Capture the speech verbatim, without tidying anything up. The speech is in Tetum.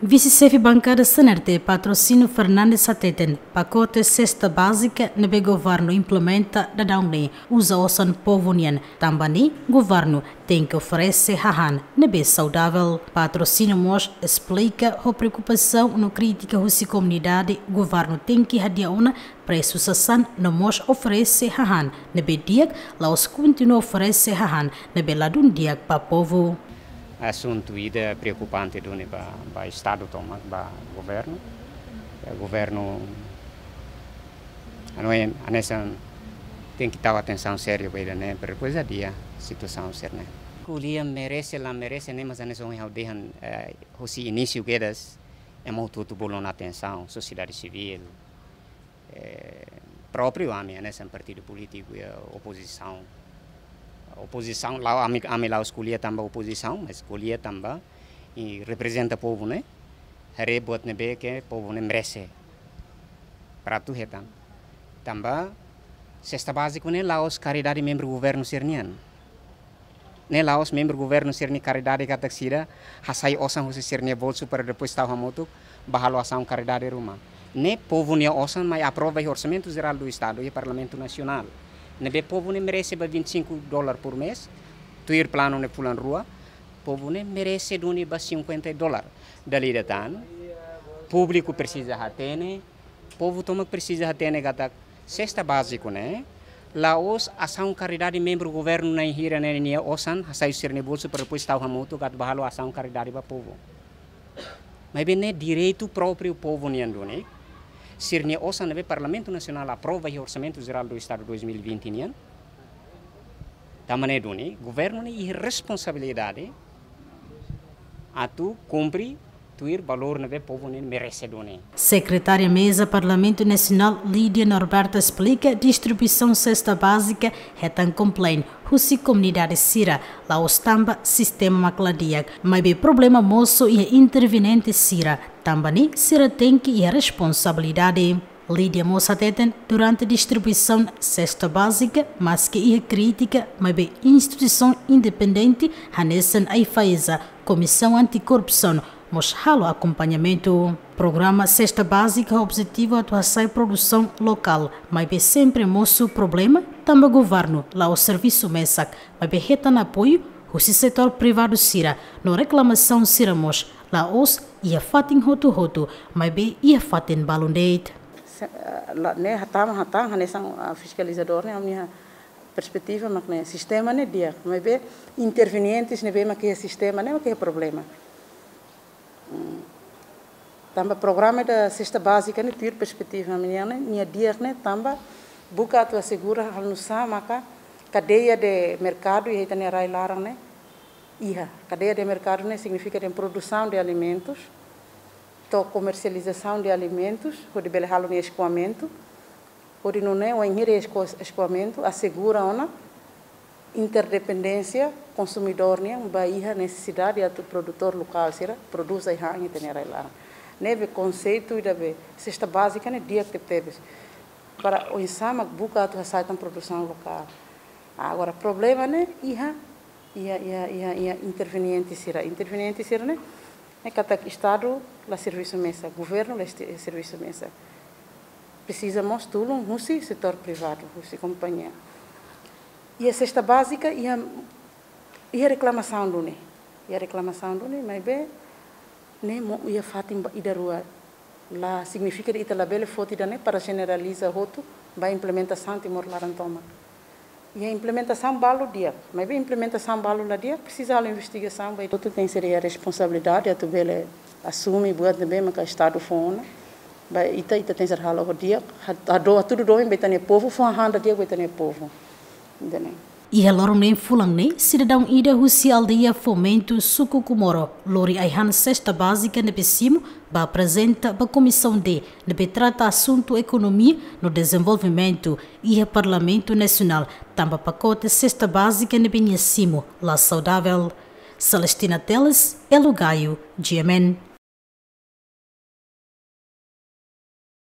Vise-xefe bankada C N R T, Patrocínio Fernandes hateten, pakote sesta bázika ne'ebé governu implementa daudaun ne'e uza osan povu nian, tanba ne'e governu tenke oferese hahán ne'ebé saudavel. Patrocínio mós esplika ho preokupasaun no krítika husi komunidade, governu tenke hadi'a ona presu sasán no mós oferese hahán ne'ebé di'ak, la'ós kontinua oferese hahán ne'ebé ladún di'ak ba povu. Asuntu ida preokupante duni ba, ba Estadu tomak, ba governu. Ya, governu, anu, hanesan tenke tau atensaun sériu ba ida-ne'e, para depois hadi'a situasaun sira-ne'e. Ko'alia merese la merese ne'e, mas hanesan ohin ha'u dehan, eh, husi inísiu kedas, ema hotu-hotu bolu ona atensaun, sosiedade sivíl, eh, própriu ami, hanesan partidu polítiku, ya, opozisaun. Opozisaun, la'ós ami, ami la'ós ko'alia tanba opozisaun, mas ko'alia tanba, i reprezenta povu, ne'e? Haree buat ne'ebé ke povu ne'e merese. Para atu hetan. Tanba sesta bázika ne'e la'ós karidade membru governu sira-nian. Ne'e la'ós membru governu sira-nia karidade katak sira hasai osan husi sira-nia bolsu para depois tau hamutuk ba halo asaun karidade ruma. Ne'e povu nia osan mai aprova iha Orsamentu Jerál do Estadu, iha Parlamentu Nasionál. Ne'ebé povu ne'e merese ba vinte e cinco dólar por mês, tuir planu ne'e fulan rua, povu ne'e merese duni ba cinquenta dólar. Dala ida tan, públiku presiza hatene, povu tomak presiza hatene katak sesta bázika ne'e la'ós asaun karidade membru governu na'in hira ne'e nia osan hasai sira-nia bolsu para depois tau hamutuk atu ba halo asaun karidade ba povu. Maibé ne'e direitu própriu povu nian duni. Sira-nia osan ne'ebé Parlamentu Nasionál aprova iha Orsamentu Jerál do Estadu dois mil e vinte nian. Tanba ne'e duni, governu ne'e iha responsabilidade atu kumpre tuir valór ne'ebé povu ne'e merese duni. Sekretária Meza Parlamentu Nasionál Lídia Norberta esplika distribuisaun sesta bázika hetan complain husi komunidade sira, la'ós tanba sistema mak la di'ak, maibé problema mosu iha interveniente sira, tanba ne'e sira tenke iha responsabilidade. Lídia mós hateten, durante distribuisaun sesta bázika, maski iha krítika, maibé instituisaun independente, hanesan AIFAESA, Komisaun Antikorrupsaun, mós halo akompañamentu. Programa sesta bázika objetivu atu hasai produsaun lokál, maibé sempre mosu problema, tanba governu la'ós servisu mesak, maibé hetan apoiu husi setór privadu sira, no reklamasaun sira mós la'ós iha fatin hotu-hotu, maibé iha fatin balun de'it. Se, eh, la, ne'e hatama, hatama, hanesan, ah, fiskalizadór ne'e, ami-nia perspetiva mak ne'e, sistema ne'e di'ak, maibé intervenientes ne'ebé mak iha sistema ne'e mak iha problema. Hmm. Tanba programa ida sesta bázika ne'e tuir perspetiva ami-nian ne'e, nia di'ak ne'e tanba buka atu asegura halo nu'usá maka kadeia de merkadu iha ita-nia rai laran ne'e iha. Kadeia de merkadu ne'e signifika dehan produsaun de alimentus, to'o komersializasaun de alimentus, hodi bele halo nia eskuamentu, hodi nune'e wainhira esko-, eskuamentu asegura ona interdependénsia konsumidór nian ba iha nesesidade atu produtór lokál sira prodús ai-han iha ita-nia rai laran. Ne'ebé konseitu ida be sesta bázika ne'e di'ak tebetebes. Para oinsá mak buka atu hasa'e tan produsaun lokál. Agora, problema ne'e iha, iha, iha, iha, iha interveniente sira. Interveniente sira ne'e, ne'e katak Estadu la servisu mesak, governu la esti-, servisu mesak. Presiza mós tulun husi setór privadu, husi kompañia. Iha sesta bázika, iha, iha reklamasaun duni. Iha reklamasaun duni, maibé ne'e mós iha fatin ba ida rua. La signifika dehan ita labele foti ida-ne'e para jeneraliza hotu ba implementasaun Timor laran tomak. Iha implementasaun balu di'ak, maibé implementasaun balu la di'ak, presiza halo investigasaun ba ita. Hotu tenke ser iha responsabilidade atu bele asume buat ne'ebé maka Estadu fó ona. Ba ita, ita tenke ser halo ho di'ak, ha-, hado-, hatudu domin ba ita-nia povu, fó hahán ida di'ak ba ita-nia povu. Ida-ne'e. Iha loron neen fulan ne'e, sidadaun ida husi aldeia Fomento, suku Comoro, lori ai-han sesta bázika ne'ebé simu ba aprezenta ba Komisaun D ne'ebé trata asuntu ekonomia no dezenvolvimentu iha Parlamentu Nasionál, tanba pakote sesta bázika ne'ebé nia simu la saudavel. Celestina Teles, Elo Gaio, G M N.